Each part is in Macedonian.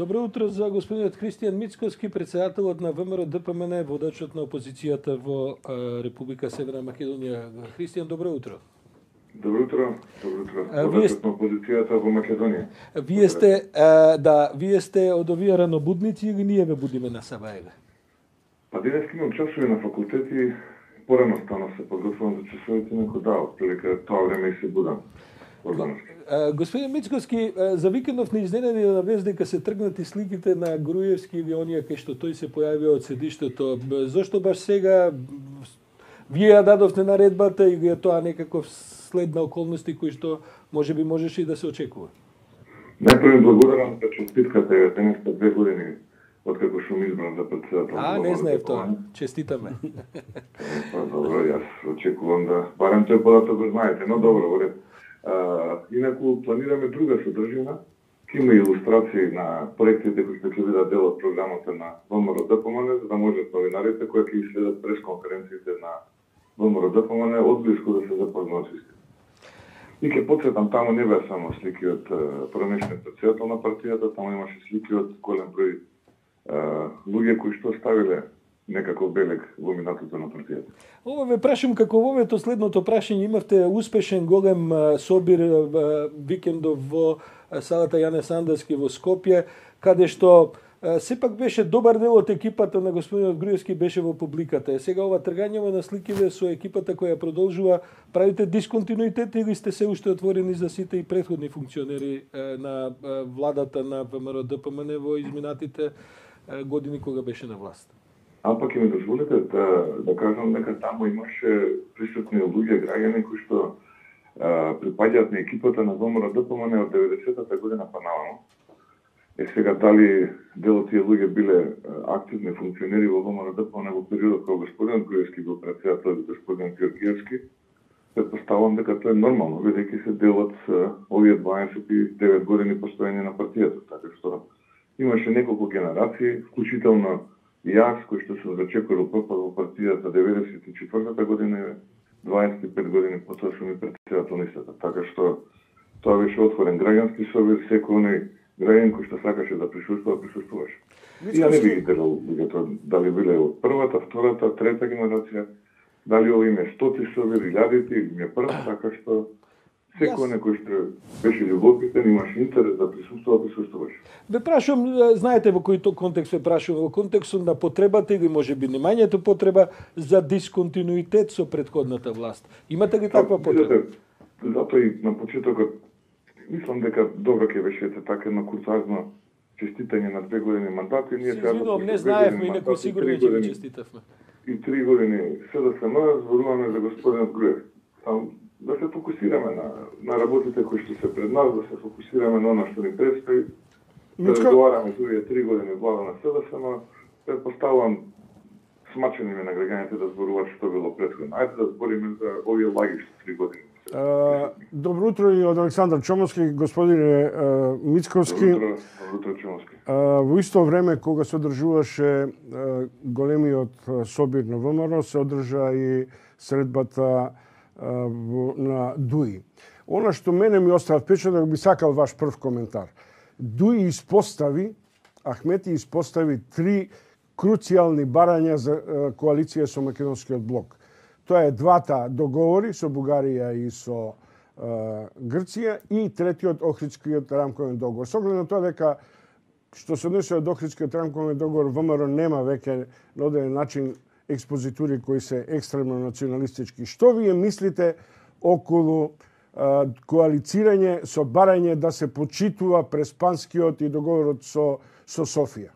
Добро утро за господинот Христијан Мицковски, председателот на ВМРО ДПМН, водачот на опозицијата во Република Северна Македонија. Христијан, добро утро. Добро утро. Водачот на опозицијата во Македонија. Вие сте од овие ранобудници или ние ве будиме на Сабаега? Па денес имам часови на факултети, порано станав се подготвувам за часовите, некој отприлика тоа време и се будам. Господин Мицковски, за викендов не изненади да навез дека се тргнати сликите на Груевски или оние кај што тој се појавија од седиштето. Зошто баш сега вие ја дадовте наредбата или е тоа некаков след на околности кои што можеби можеше и да се очекува? Најпрво благодарам за честитката, денес 2 години откако сум избран за председател. Не знаев тоа. Честитаме. Па добро, јас очекувам да барем тој податок го знаете, но добро, во ред. Инаку планираме друга содржина, ќе има илустрации на проектите кои ќе бидат дел од програмата на ВМРО ДПМН, за да можат новинарите кои ќе следат пресконференциите на ВМРО ДПМН одблиску да се запознаат со истина. И ќе потсетам, таму не беа само слики од пронешниот председател на партијата, таму имаше слики од голем број луѓе кои што ставиле некаков белег во минатото на партијата. Ова ве прашам како во овето следното прашање имавте успешен голем собир викендов во салата Јане Сандерски во Скопје, каде што сепак беше добар дел од екипата на господинот Груевски беше во публиката. Сега ова тргањево на сликиве со екипата која продолжува, правите дисконтинуитет или сте се уште отворени за сите и претходни функционери на владата на ВМРО ДПМН во изминатите години кога беше на власт? Пак ми дозволите да кажам дека таму имаше присутни луѓе, граѓани кои што припаѓаат на екипата на ВМРО ДПМН од 90-та година па наваму. Сега дали дел од тие луѓе биле активни функционери во ВМРО ДПМН во периодот кога господин Груевски бил председател и господин Георгиевски, предпоставам дека тоа е нормално, бидејќи се дел од овие 29 години постоење на партијата, така што имаше неколку генерации, вклучително и јас, кој што сум зачекорил пропад во партијата 94-та година и 25 години потоа сум и председател на истата. Така што тоа беше отворен граѓански собир, секој оној граѓанин кој што сакаше да присуствуваше. И ја не би ги делал луѓето, дали биле од првата, втората, трета генерација, дали ово име 100 собир, илјадите, или ми е прв, така што секој некој што беше љубопитен, имаше интерес да присуствуваше. Ве прашувам, знаете во кој контекст ве прашувам, во контекстот на потребата или можеби немањето потреба за дисконтинуитет со претходната власт. Имате ли таква потреба? Затоа и на почетокот мислам дека добро ќе беше така едно куртоазно честитање на 2 години мандат и ние сега не знаевме и некој сигурно ќе ви честитавме. И 3 години СДСМ зборуваме за господинот Груев. Да се фокусираме на работите кои што се пред нас, да се фокусираме на она што ни предстои, да разговараме за овие 3 години влада на СДСМ, предпоставувам смачени на граѓаните да зборуваат што било претходно. Ајде да збориме за овие лаги што 3 години. Добро утро и од Александар Чомовски, господине Мицковски. Добро утро, Чомовски. Во исто време кога се одржуваше големиот собир на ВМРО, се одржа и средбата на Дуи. Она што мене ми остава впечаток, би сакал ваш прв коментар. Дуи испостави, Ахмети испостави 3 круцијални барања за коалиција со македонскиот блок. Тоа е двата договори со Бугарија и со Грција и третиот Охридскиот рамковен договор. Со оглед на тоа дека што се однесува до Охридскиот рамковен договор, ВМРО нема веќе на одреден начин експозитури кои се екстремно националистички. Што вие мислите околу коалицирање со барање да се почитува Преспанскиот и договорот со Софија?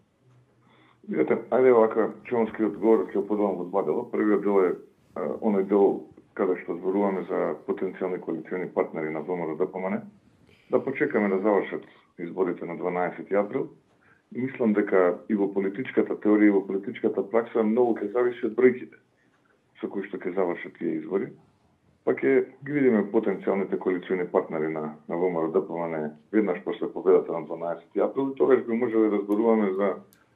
Видете, ајде вака, Чомовски одговор ќе подавам во 2 дела. Првиот дел е оној дел каде што зборуваме за потенцијални коалициони партнери на ВМРО ДПМН, да почекаме да завршат изборите на 12 април. И мислам дека и во политичката теорија и во политичката пракса многу ќе зависи од бројките со кои што ќе завршат тие избори. Па ќе ги видиме потенцијалните коалициони партнери на ВМРО ДПМН веднаш после победата на 12 април и тогаш би можеле да зборуваме за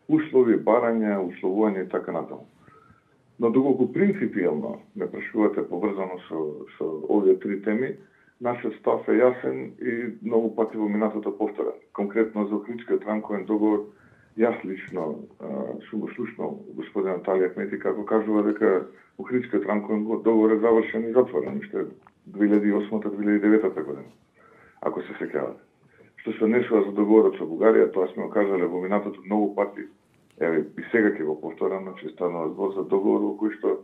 услови, барања, условување и така натаму. Но доколку принципијално ме прашувате поврзано со овие 3 теми, нашиот став е јасен и многу пати во минатото повторен. Конкретно за Охридскиот рамковен договор, јас лично сум го слушнал господин Наталија Ахмети како кажува дека Охридскиот рамковен договор е завршен и затворен уште 2008-2009 година, ако се сеќавате. Што се однесува за договорот со Бугарија, тоа сме го кажале во минатото многу пати, еве и сега ќе го повторам, че станува збор за договор во кој што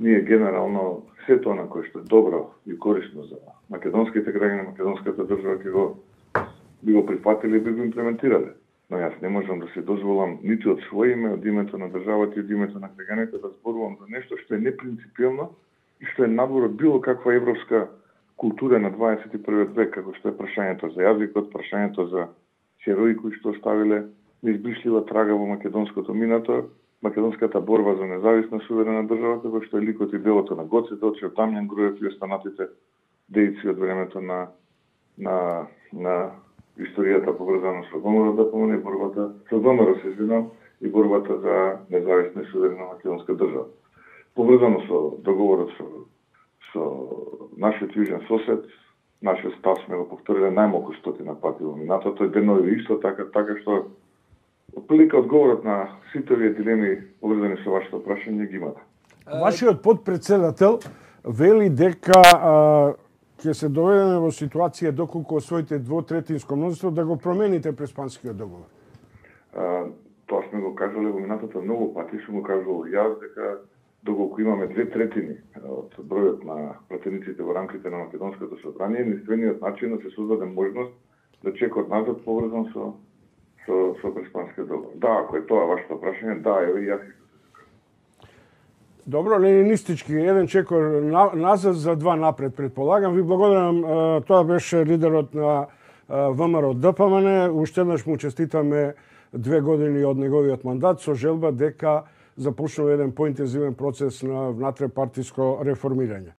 ние генерално сето она кое што е добро и корисно за македонските граѓани, македонската држава би го прифатиле и би го имплементирале. Но јас не можам да се дозволам ниту од своје име, од името на државата и од името на граѓаните да зборувам за нешто што е непринципиелно и што е надвор од било каква европска култура на 21. век, како што е прашањето за јазикот, прашањето за херои кои што оставиле неизбришлива трага во македонското минато, македонската борба за независна суверена држава, како што е ликот и делото на Гоце Делчев, Дамјан Груев и останатите дејци од времето на историјата поврзана со ВМРО ДПМН и борбата со ВМРО и борбата за независна и суверена македонска држава. Поврзано со договорот со нашиот јужен сосед, нашиот став сме го повториле најмалку 100 пати во минатото и денови исто така што отприлика одговорот на сите овие дилеми поврзани со вашето прашање ги имате. Вашиот подпредседател вели дека ќе се доведеме во ситуација доколку освоите двотретинско мнозинство да го промените Преспанскиот договор. Тоа сме го кажале во минатото многу пати, сум го кажал јас дека доколку имаме 2/3 од бројот на пратениците во рамките на Македонското собрание, единствениот начин да се создаде можност да чекот назад поврзан со Преспанскиот договор. Да, ако е тоа вашето прашање, да, еве јас. Добро, ленинистички, еден чекор назад за два напред, предполагам. Ви благодарам, тоа беше лидерот на ВМРО ДПМН. Уште еднаш му честитаме 2 години од неговиот мандат со желба дека започнува еден поинтензивен процес на внатре партиско реформирање.